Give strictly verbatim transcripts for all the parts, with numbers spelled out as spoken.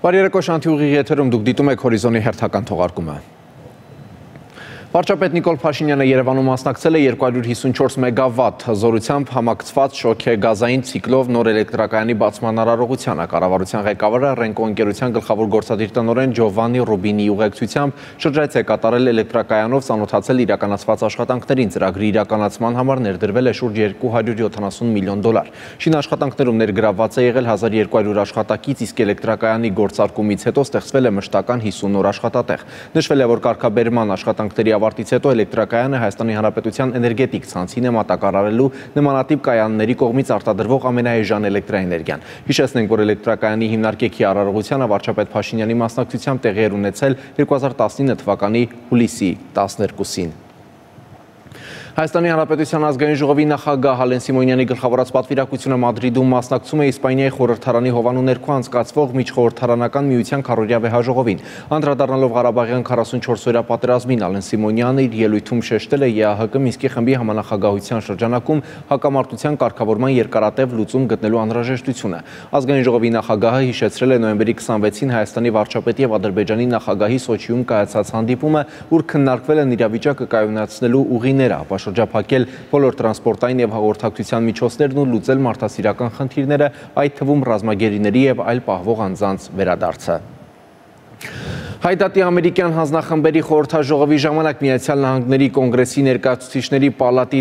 Բարերեկո Շանթի ուղիղ եթերում դուք դիտում եք Հորիզոնի հերթական թողարկումը։ Վարչապետ Նիկոլ Փաշինյանը Երևանում մասնակցել է երկու հարյուր հիսունչորս մեգավատ զորությամբ համակցված շոգեգազային ցիկլով նոր էլեկտրակայանի բացման արարողությանը։ Կառավարության ղեկավարը Ռենկո ընկերության գլխավոր գործադիր տնօրեն Ջովաննի Ռուբինի ուղեկցությամբ շրջայց է կատարել էլեկտրակայանով ծանոթացել իրականացված աշխատանքներին։ Ծրագրի իրականացման համար ներդրվել է շուրջ երկու հարյուր յոթանասուն միլիոն դոլար։ Շինաշխատանքներում ներգրավված է եղել հազար երկու հարյուր աշխատակից, իսկ էլեկտրակայանի գործարկումից հետո ստեղծվել է մշտական հիսուն նոր աշխատատեղ։ Նշվել է, որ կարգաբերման աշխատանքների ավարտից հետո էլեկտրակայանը Հայաստանի Հանրապետության էներգետիկ ցանցին է մատակարարելու նմանատիպ կայանների կողմից արտադրվող ամենաէժան էլեկտրաէներգիան։ Հիշեցնենք, որ էլեկտրակայանի հիմնարկեքի արարողությանը վարչապետ Փաշինյանի մասնակցությամբ տեղի էր ունեցել երկու հազար տասնինը թվականի հուլիսի տասներկուսին։ Հայաստանի Հանրապետության ազգային ժողովի նախագահ Հալեն Սիմոնյանի գլխավորած պատվիրակությունը Մադրիդում մասնակցում է Իսպանիայի խորհրդարանի հովանու ներքո անցկացվող միջխորհրդարանական միության քառօրյա վեհաժողովին։ Անդրադառնալով Ղարաբաղյան քառասունչորսօրյա պատերազմին, Հալեն Սիմոնյանը իր ելույթում շեշտել է ԵԱՀԿ Մինսկի խմբի համանախագահության շրջանակում հակամարտության կարգավորման երկարատև լուծում գտնելու անհրաժեշտությունը։ Ազգային ժողովի նախագահը հիշեցրել է նոյեմբերի քսանվեցին Հայաստանի վարչապետի եւ Ադրբեջանի նախագահի Սոչիում կայացած հանդիպումը, ուր քննարկվել են իրավիճակը կայունացնելու ուղիները, շրջափակել բոլոր տրանսպորտային եւ հաղորդակցության միջոցներն ու լուծել մարդասիրական խնդիրները, այդ թվում ռազմագերիների եւ այլ պահվող անձանց վերադարձը։ Հայդատի ամերիկյան հանձնախմբերի խորհրդաժողովի ժամանակ Միացյալ Նահանգների կոնգրեսի ներկայացուցիչների պալատի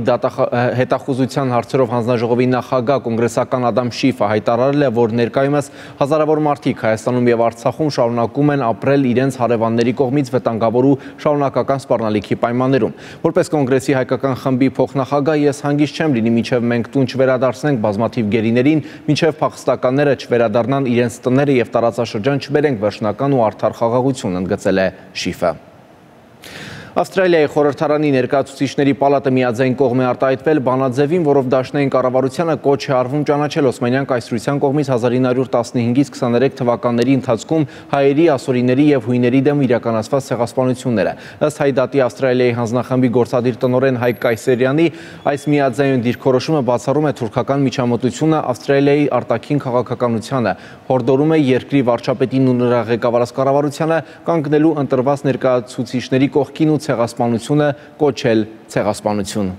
հետախուզության հարցերով հանձնաժողովի նախագահ կոնգրեսական Ադամ Շիֆը հայտարարել է, որ ներկայումս հազարավոր մարդիկ Հայաստանում եւ Արցախում շարունակում են ապրել իրենց հարևանների կողմից վտանգավոր ու շարունակական սպառնալիքի պայմաններում։ Որպես կոնգրեսի հայկական խմբի փոխնախագահ ես հանգիստ չեմ լինի, մինչև մենք տուն չվերադարձնենք բազմաթիվ գերիներին, մինչև փախստականները չվերադառնան իրենց տները եւ տարածաշրջան չբերենք վերջնական ու արդար խաղաղություն, ընդգծել է Շիֆը։ Ավստրալիայի խորհրդարանի ներկայացուցիչների պալատը միաձայն կողմ է արտահայտվել բանաձևին, որով դաշնային կառավարությանը կոչ է արվում ճանաչել Օսմանյան կայսրության կողմից հազար ինը հարյուր տասնհինգից քսաներեք թվականների ընթացքում հայերի, ասորիների եւ հույների դեմ իրականացված ցեղասպանությունները։ Ըստ Հայդատի Ավստրալիայի հանձնախմբի գործադիր տնօրեն Հայկ Կայսերյանի, այս միաձայն դիրքորոշումը բացառում է թուրքական միջամտությունը Ավստրալիայի արտաքին քաղաքականությանը, հորդորում է երկրի վարչապետին ու նրա ղեկավարած կառավարությանը կանգնելու ընտրված ներկայացուցիչների կողքին ու ցեղասպանությունը կոչել ցեղասպանություն։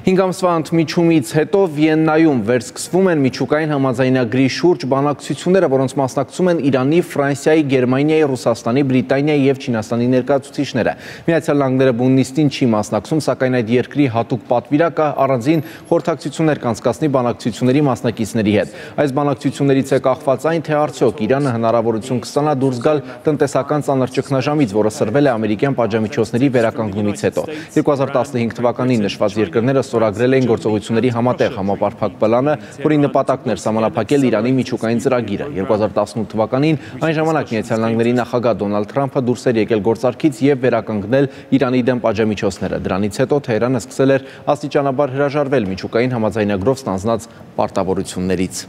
Հինգ ամսվա ընդմիջումից հետո Վիեննայում վերսկսվում են միջուկային համաձայնագրի շուրջ բանակցությունները, որոնց մասնակցում են Իրանի, Ֆրանսիայի, Գերմանիայի, Ռուսաստանի, Բրիտանիայի եւ Չինաստանի ներկայացուցիչները։ Միացյալ Նահանգները բուննիստին չի մասնակցում, սակայն այդ երկրի հատուկ պատվիրակը առանձին խորհրդակցություններ կանցկացնի բանակցությունների մասնակիցների հետ։ Այս բանակցություններից է կախված այն, թե արդյոք Իրանը հնարավորություն կստանա դուրս գալ տնտեսական ծանր ճգնաժամից, որը սրվել է ամերիկյան պատժամիջոցների վերականգնումից հետո։ երկու հազար տասնհինգ թվականին նշված երկրները ստորագրել էին գործողությունների համատեղ համապարփակ պլանը, որի նպատակն էր սահմանափակել Իրանի միջուկային ծրագիրը։ երկու հազար տասնութ թվականին այն ժամանակ Միացյալ Նահանգների նախագահ Դոնալդ Թրամփը դուրս էր եկել գործարքից եւ վերականգնել Իրանի դեմ պատժամիջոցները։ Դրանից հետո Թեհրանը սկսել էր աստիճանաբար հրաժարվել միջուկային համաձայնագրով ստանձնած պարտավորություններից։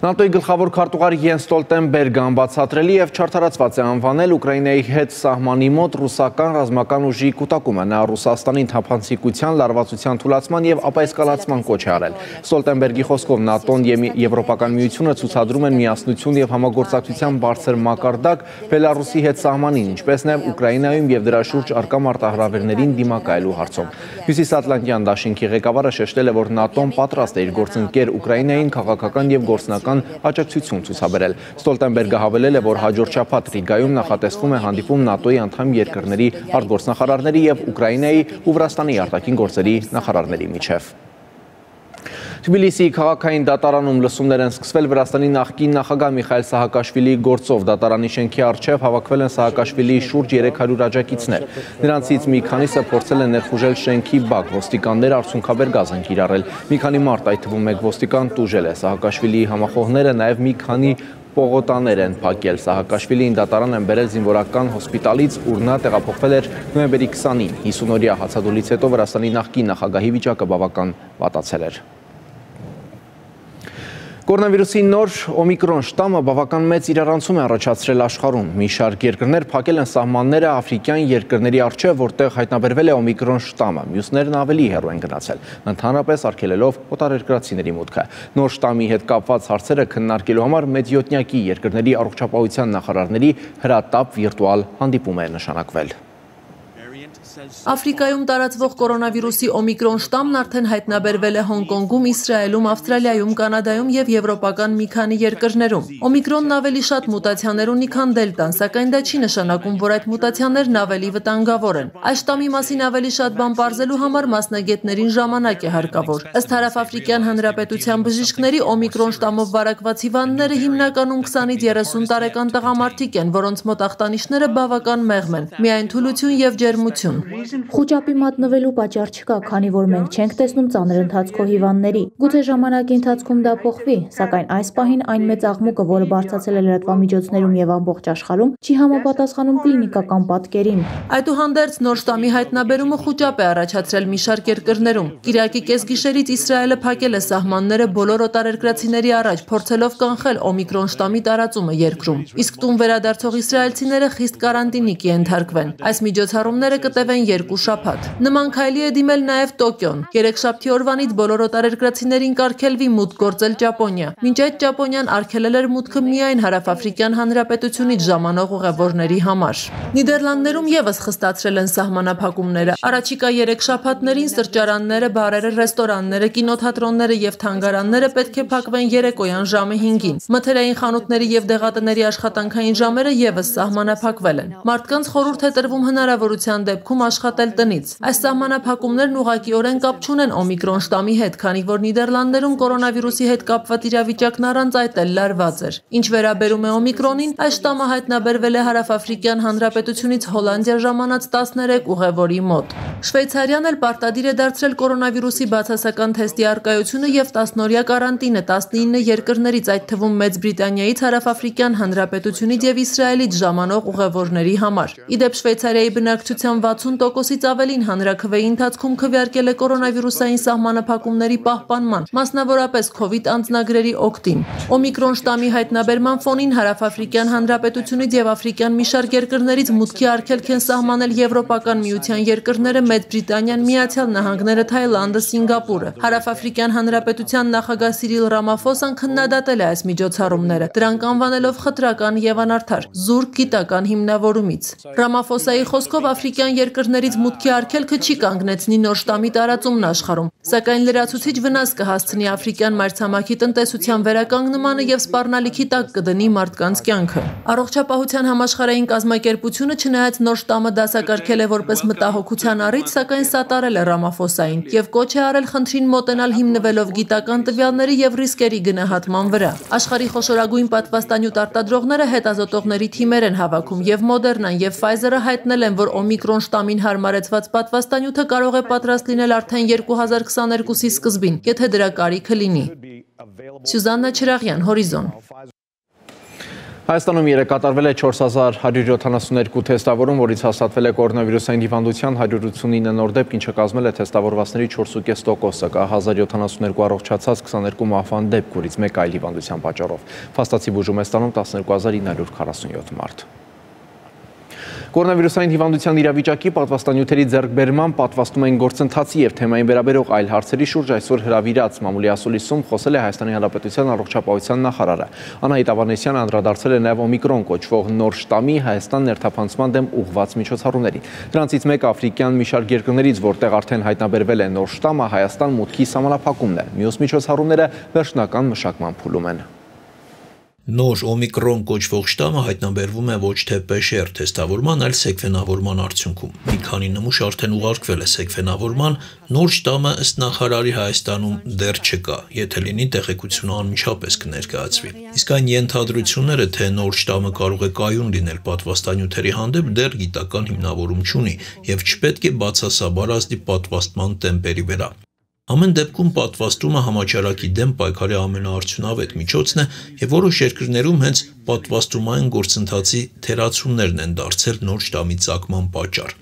ՆԱՏՕ-ի գլխավոր քարտուղար Յենս Ստոլտենբերգը անբացատրելի եւ չարդարացված է անվանել Ուկրաինայի հետ սահմանի մոտ ռուսական ռազմական ուժի կուտակումը։ Նա Ռուսաստանին թափանցիկության, լարվածության թուլացման եւ ապաեսկալացման կոչ է արել։ Ստոլտենբերգի խոսքով ՆԱՏՕ-ն եւ Եվրոպական միությունը ցուցադրում են միասնություն եւ համագործակցության բարձր մակարդակ Բելարուսի հետ սահմանին, ինչպես նաեւ Ուկրաինայում եւ դրա շուրջ առկա մարտահրավերներին դիմակայելու հարցում։ Հյուսիսատլանտյան դաշինքի ղեկավարը շեշտել է, որ ՆԱՏՕ-ն պատրաստ է իր գործընկեր Ուկրաինային քաղաքական եւ գործնական աջակցություն ցուցաբերել։ Ստոլտենբերգը հավելել է, որ հաջորդ շաբաթ Ռիգայում նախատեսվում է հանդիպում ՆԱՏՕ-ի անդամ երկրների արտգործնախարարների եւ Ուկրաինայի ու Վրաստանի արտաքին գործերի նախարարների միջև։ Թբիլիսիի քաղաքային դատարանում լսումներ են սկսվել Վրաստանի նախկին նախագահ Միխայիլ Սահակաշվիլիի գործով։ Դատարանի շենքի առջև հավաքվել են Սահակաշվիլիի շուրջ երեք հարյուր աջակիցներ։ Նրանցից մի քանիսը փորձել են ներխուժել շենքի բակ, ոստիկանները արդյունքաբեր գազ են կիրառել։ Մի քանի մարդ, այդ թվում մեկ ոստիկան, տուժել է։ Սահակաշվիլիի համախոհները նաև մի քանի պողոտաներ են փակել։ Սահակաշվիլին դատարան են բերել զինվորական հոսպիտալից, ուր նա տեղափոխվել էր նոյեմբերի քսանին։ հիսուն-օրյա հացադուլից հետո Վրաստանի նախկին նախագահի վիճակը բավական վատացել էր։ Կորոնավիրուսի նոր օմիկրոն շտամը բավական մեծ իրարանցում է առաջացրել աշխարհում։ Մի շարք երկրներ փակել են սահմանները աֆրիկյան երկրների առջև, որտեղ հայտնաբերվել է օմիկրոն շտամը։ Մյուսներն ավելի հեռու են գնացել, ընդհանրապես արգելելով օտարերկրացիների մուտքը։ Նոր շտամի հետ կապված հարցերը քննարկելու համար մեծյոտնյակի երկրների առողջապահության նախարարների հրատապ վիրտուալ հանդիպում է նշանակվել։ Աֆրիկայում տարածվող կորոնավիրուսի օմիկրոն շտամն արդեն հայտնաբերվել է Հոնկոնգում, Իսրայելում, Ավստրալիայում, Կանադայում և եվրոպական մի քանի երկրներում։ Օմիկրոնն ավելի շատ մուտացիաներ ունի, քան դելտան, սակայն դա չի նշանակում, որ այդ մուտացիաներն ավելի վտանգավոր են։ Այս շտամի մասին ավելի շատ բան պարզելու համար մասնագետներին ժամանակ է հարկավոր։ Ըստ Հարավաֆրիկյան Հանրապետության բժիշկների, օմիկրոն շտամով վարակված հիվանդները հիմնականում քսանից երեսուն տարեկան տղամարդիկ են, որոնց մոտ ախտանիշները բավական մեղմ են, միայն թուլություն և ջերմություն։ Խուճապի մատնվելու պատճառ չկա, քանի որ մենք չենք տեսնում ծանր ընթացքով հիվանդների։ Գուցե ժամանակի ընթացքում դա փոխվի, սակայն այս պահին այն մեծ աղմուկը, որը բարձրացել է լրատվամիջոցներում եւ ամբողջ աշխարհում, չի համապատասխանում կլինիկական պատկերին։ Այդուհանդերձ նոր շտամի հայտնաբերումը խուճապ է առաջացրել մի շարք երկրներում։ Կիրակի կեսգիշերից Իսրայելը փակել է սահմանները բոլոր օտարերկրացիների առաջ, փորձելով կանխել օմիկրոն շտամի տարածումը երկրում։ Իսկ տուն վերադարձող իսրայելցիները խիստ կարանտինի կենթարկվեն։ Այս միջոցառումները կտևեն երկու շաբաթ։ Նման քայլի է դիմել նաև Տոկիոն։ Երեքշաբթի օրվանից բոլոր օտարերկրացիներին կարգելվի մուտք գործել Ճապոնիա։ Մինչ այդ Ճապոնիան արգելել էր մուտքը միայն Հարավաֆրիկյան Հանրապետությունից ժամանող ուղևորների համար։ Նիդերլանդներում եւս խստացրել են սահմանափակումները։ Առաջիկա երեք շաբաթներին սրճարանները, բարերը, ռեստորանները, կինոթատրոնները եւ թանգարանները պետք է փակվեն երեկոյան ժամը հինգին։ Մթերային խանութների եւ դեղատների աշխատանքային ժամերը եւս սահմանափակվել են։ Մարդկանց խորհուրդ է տրվում հնարավորության դեպքում աշխատել տնից։ Այս սահմանափակումներն ուղղակիորեն կապ չունեն օմիկրոն շտամի հետ, քանի որ Նիդերլանդներում կորոնավիրուսի հետ կապված իրավիճակն առանց այդ էլ լարված էր։ Ինչ վերաբերում է օմիկրոնին, այս շտամը հայտնաբերվել է Հարավաֆրիկյան Հանրապետությունից Հոլանդիա ժամանած տասներեք ուղևորի մոտ։ Շվեյցարիան էլ պարտադիր է դարձրել կորոնավիրուսի բացասական թեստի առկայությունը եւ տասնօրյա կարանտինը տասնինը երկրներից, այդ թվում Մեծ Բրիտանիայից, Հարավաֆրիկյան Հանրապետությունից եւ Իսրայելից ժամանող ուղևորների համար։ Իդեպ Շվեյցարիայի բնակչության վաթսուն տոկոսից ավելին հանրաքվեի ընթացքում քվեարկել է կորոնավիրուսային սահմանափակումների պահպանման, մասնավորապես քովիդ անձնագրերի օգտին։ Օմիկրոն շտամի հայտնաբերման ֆոնին Հարավաֆրիկյան Հանրապետությունից եւ աֆրիկյան մի շարք երկրներից մուտքի արգելք են սահմանել Եվրոպական միության երկրները, Մեծ Բրիտանիան, Միացյալ Նահանգները, Թայլանդը, Սինգապուրը։ Հարավաֆրիկյան Հանրապետության նախագահ Սիրիլ Ռամաֆոսան քննադատել է այս միջոցառումները, դրանք անվանելով խտրական եւ անարդար, զուրկ գիտական հիմնավորումից։ Ռամաֆոսայի խոսքով աֆրիկյան երկրներից մուտքի արգելքը չի կանգնեցնի նոր շտամի տարածումն աշխարհում, սակայն լրացուցիչ վնաս կհասցնի աֆրիկյան մայրցամաքի տնտեսության վերականգնմանը եւ սպառնալիքի տակ կդնի մարդկանց կյանքը։ Առողջապահության համաշխարհային կազմակերպությունը չնայած նոր շտամը դասակարգել է որպես մտահոգության առիթ, սակայն սատարել է Ռամաֆոսային եւ կոչ է արել խնդրին մոտենալ հիմնվելով գիտական տվյալների եւ ռիսկերի գնահատման վրա։ Աշխարհի խոշորագույն պատվաստանյութ արտադրողները հետազոտողների թիմեր են հավաքում եւ Մոդերնան եւ Pfizer-ը հայտնել են, որ օմիկրոն շտամին հարմարեցված պատվաստանյութը կարող է պատրաստ լինել արդեն երկու հազար քսաներկուսի սկզբին, եթե դրա կարիքը լինի։ Սյուզաննա Չրաղյան, Հորիզոն։ Հայաստանում երեկ կատարվել է չորս հազար հարյուր յոթանասունյոթ թեստավորում, որից հաստատվել է կորոնավիրուսային հիվանդության հարյուր ութսունինը նոր դեպք, ինչը կազմել է թեստավորվածների չորս կόμμα պենս տոկոսը, կա հազար յոթանասունյոթ առողջացած, քսաներկու մահվան դեպք, որից մեկ այլ հիվանդության պատճառով։ Փաստացի բուժում է ստանում տասներկու հազար ինը հարյուր քառասունյոթ մարդ։ Կորոնավիրուսային հիվանդության իրավիճակի պատվաստանյութերի ձեռքբերման, պատվաստում են գործընթացի եւ թեմային վերաբերող այլ հարցերի շուրջ այսօր հրավիրած մամուլի ասուլիսում խոսել է Հայաստանի Հանրապետության առողջապահության նախարարը։ Անահիտ Ավանեսյանը անդրադարձել է նաեւ օմիկրոն կոչվող նոր շտամի Հայաստան ներթափանցման դեմ ուղղված միջոցառումներին։ Դրանցից մեկը աֆրիկյան մի շարք երկրներից, որտեղ արդեն հայտնաբերվել է նոր շտամը, Հայաստան մուտքի սահմանափակումն է։ Մյուս միջոցառումները վերջնական մշակման փուլում են։ Նոր օմիկրոն կոչվող շտամը հայտնաբերվում է ոչ թե պե շե ար թեստավորման, այլ սեկվենավորման արդյունքում։ Մի քանի նմուշ արդեն ուղարկվել է սեկվենավորման, նոր շտամը ըստ նախարարի Հայաստանում դեռ չկա, եթե լինի տեղեկությունը անմիջապես կներկայացվի։ Իսկ այն ենթադրությունները, թե նոր շտամը կարող է կայուն լինել պատվաստանյութերի հանդեպ, դեռ գիտական հիմնավորում չունի եւ չպետք է բացասաբար ազդի պատվաստման տեմպերի վրա։ Ամեն դեպքում պատվաստումը համաճարակի դեմ պայքարի ամենաարդյունավետ միջոցն է եւ որոշ երկրներում հենց պատվաստումային գործընթացի թերացումներն են դարձել նոր շտամի ծագման պատճառ։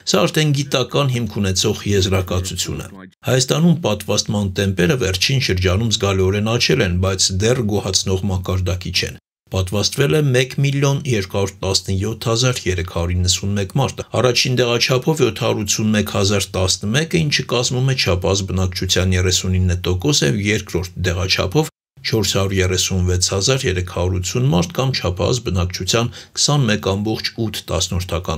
Սա արդեն գիտական հիմք ունեցող եզրակացություն է։ Հայաստանում պատվաստման տեմպերը վերջին շրջանում զգալիորեն աճել են, բայց դեռ գոհացնող մակարդակի չեն։ Պատվաստվել է մեկ միլիոն երկու հարյուր տասնյոթ հազար երեք հարյուր իննսունմեկ մարդ։ Առաջին դեղաչափով յոթ հարյուր ութսունմեկ հազար տասնմեկը, ինչը կազմում է չափած բնակչության երեսունինը տոկոսը, երկրորդ դեղաչափով չորս հարյուր երեսունվեց հազար երեք հարյուր ութսուն մարդ կամ չափած բնակչության քսանմեկ ամբողջ ութ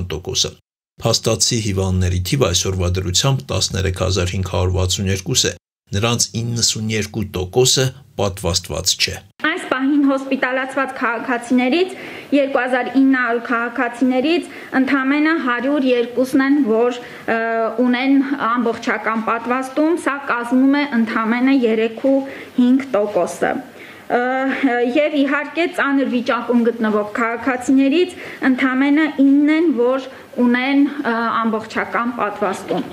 տոկոսը։ Փաստացի հիվանդների թիվը այսօրվա դրությամբ տասներեք հազար հինգ հարյուր վաթսունյոթ է, նրանց իննսունյոթ տոկոսը պատվաստված չէ։ Այս պահին հոսպիտալացված քաղաքացիներից երկու հազար ինը հարյուր քաղաքացիներից ընդամենը հարյուր երկուսն են, որ ունեն ամբողջական պատվաստում, սա կազմում է ընդամենը երեք ու հինգ տոկոսը։ Եվ իհարկե ծանր վիճակում գտնվող քաղաքացիներից ընդամենը ինն են, որ ունեն ամբողջական պատվաստում։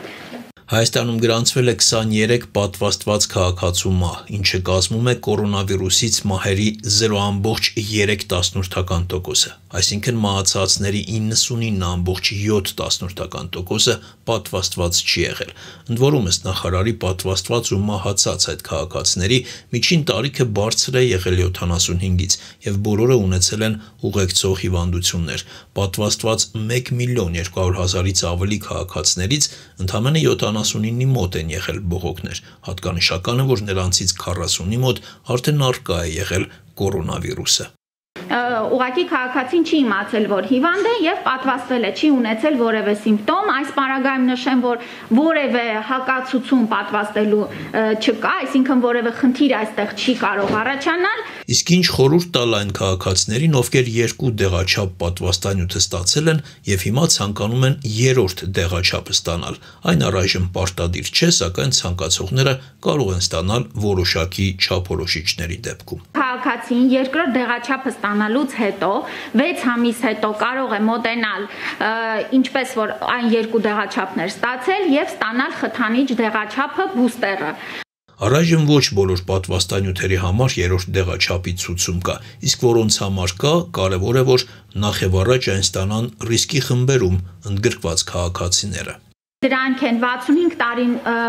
Հայաստանում գրանցվել է քսաներեք պատվաստված քաղաքացու մահ, ինչը կազմում է կորոնավիրուսից մահերի զրո ամբողջ երեք տոկոսը, այսինքն մահացածների իննսունինը ամբողջ յոթ տոկոսը պատվաստված չի եղել։ Ընդ որում, ըստ նախարարի, պատվաստված ու մահացած այդ քաղաքացիների միջին տարիքը բարձր է եղել յոթանասունհինգից եւ բոլորը ունեցել են ուղեկցող հիվանդություններ։ Պատվաստված մեկ միլիոն երկու հարյուր հազարից ավելի քաղաքացիներից ընդամենը յոթանասունինի մոտ են եղել բողոքներ։ Հատկանշական է, որ նրանցից քառասունի մոտ արդեն առկա է եղել կորոնավիրուսը։ Ուղղակի քաղաքացին չի իմացել, որ հիվանդ է եւ պատվաստվել է, չի ունեցել որևէ սիմպտոմ։ Այս պարագայում նշեմ, որ որևէ հակացություն պատվաստելու չկա, այսինքն որևէ խնդիր այստեղ չի կարող առաջանալ։ Իսկ ինչ խորհուրդ տալ այն քաղաքացիներին, ովքեր երկու դեղաչափ պատվաստանյութ ստացել են եւ հիմա ցանկանում են երրորդ դեղաչափը ստանալ։ Այն առայժմ պարտադիր չէ, սակայն ցանկացողները կարող են ստանալ որոշակի չափորոշիչների դեպքում։ Քաղաքացին երկրորդ դեղաչափը ստանալուց հետո վեց ամիս հետո կարող է մոտենալ ինչպես որ այն երկու դեղաչափներ ստացել եւ ստանալ խթանիչ դեղաչափը բուստերը։ Առայժմ ոչ բոլոր պատվաստանյութերի համար երրորդ դեղաչափի ցուցում կա, իսկ որոնց համար կա, կարևոր է, որ նախ եւ առաջ այն ստանան ռիսկի խմբերում ընդգրկված քաղաքացիները։ Դրանք են վաթսունհինգ տարի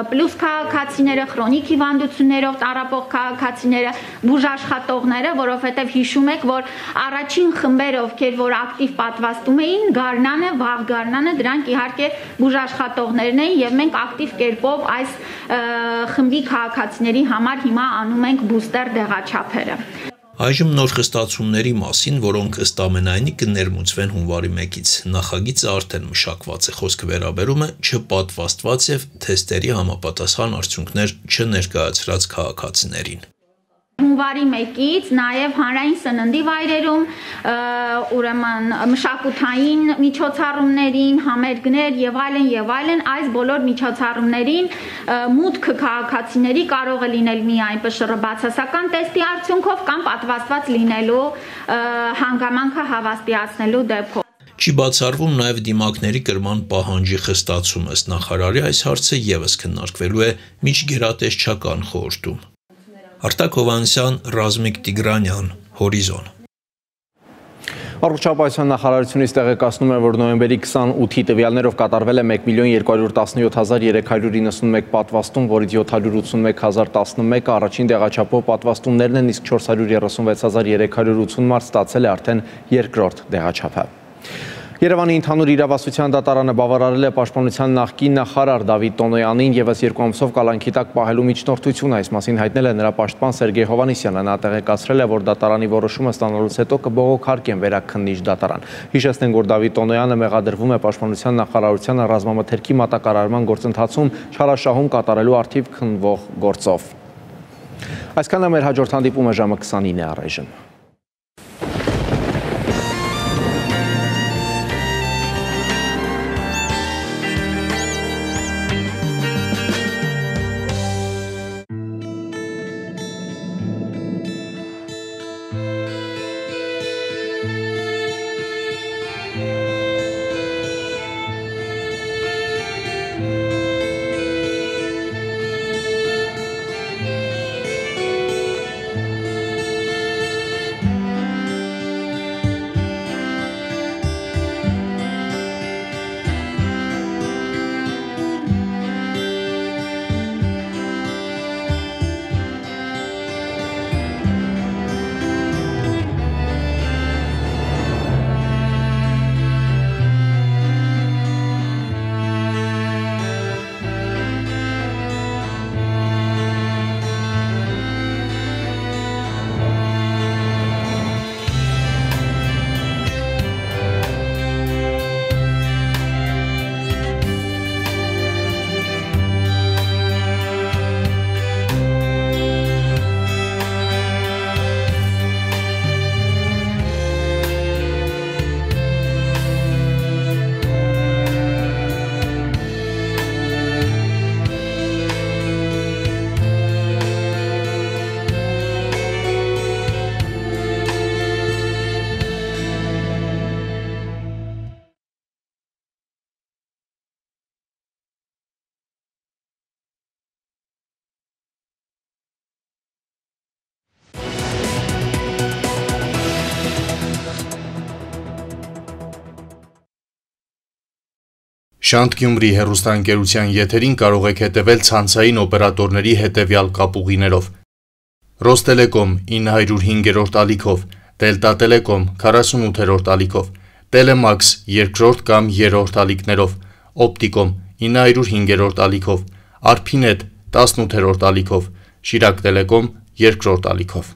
պլյուս քաղաքացիները, քրոնիկ հիվանդություններով տառապող քաղաքացիները, բուժաշխատողները, որովհետև հիշում եք, որ առաջին խմբերը, ովքեր որ ակտիվ պատվաստում էին, գարնանը, վաղ գարնանը, դրանք իհարկե բուժաշխատողներն էին եւ մենք ակտիվ կերպով այս խմբի քաղաքացիների համար հիմա անում ենք բուստեր դեղաչափերը։ Այժմ նոր խստացումների մասին, որոնք ըստ ամենայնի կներմուծվեն հունվարի մեկից, նախագիծը արդեն մշակված է, խոսքը վերաբերում է չպատվաստված եւ թեստերի համապատասխան արդյունքներ չներկայացրած քաղաքացիներին։ Հունվարի մեկից նաև հանրային սննդի վայրերում, ուրեմն մշակութային միջոցառումներին, համերգներ եւ այլն եւ այլն, այս բոլոր միջոցառումներին մուտքը քաղաքացիների կարող է լինել միայն Պ Շ R բացասական տեստի արդյունքով կամ պատվաստված լինելու հանգամանքը հավաստիացնելու դեպքով։ Չի բացառվում նաև դիմակների կրման պահանջի խստացում, ըստ նախարարի այս հարցը եւս քննարկվելու է միջգերատեսչական խորհրդում։ Արտակ Հովհաննիսյան, Ռազմիկ Տիգրանյան, Հորիզոն։ Առողջապահության նախարարությունից տեղեկացնում է, որ նոյեմբերի քսանութի տվյալներով կատարվել է մեկ միլիոն երկու հարյուր տասնյոթ հազար երեք հարյուր իննսունմեկ պատվաստում, որից յոթ հարյուր ութսունմեկ հազար տասնմեկը առաջին դեղաչափով պատվաստումներն են, իսկ չորս հարյուր երեսունվեց հազար երեք հարյուր ութսուն մարդ ստացել է արդեն երկրորդ դեղաչափը։ Երևանի ընդհանուր իրավասության դատարանը բավարարել է պաշտպանության նախկին նախարար Դավիթ Տոնոյանին եւս երկու ամսով կալանքի տակ պահելու միջնորդությունը, այս մասին հայտնել է նրա պաշտպան Սերգեյ Հովհաննիսյանը, նա տեղեկացրել է, որ դատարանի որոշումը ստանալուց հետո կբողոքարկեն վերաքննիչ դատարան։ Հիշեցնենք, որ Դավիթ Տոնոյանը մեղադրվում է պաշտպանության նախարարության ռազմամթերքի մատակարարման գործընթացում չարաշահում կատարելու առթիվ քննվող գործով։ Այսքանը մեր հաջորդ հանդիպումը ժամը քսանինը առայժմ։ Շանթ Գյումրի հեռուստաընկերության եթերին կարող եք հետևել ցանցային օպերատորների հետևյալ կապուղիներով. Ռոստելեկոմ ինը հարյուր հինգերորդ ալիքով, Դելտա Տելեկոմ քառասունութերորդ ալիքով, Տելեմաքս երկրորդ կամ երրորդ ալիքներով, Օպտիկոմ ինը հարյուր հինգերորդ ալիքով, Արփինետ տասնութերորդ ալիքով, Շիրակ Տելեկոմ երկրորդ ալիքով։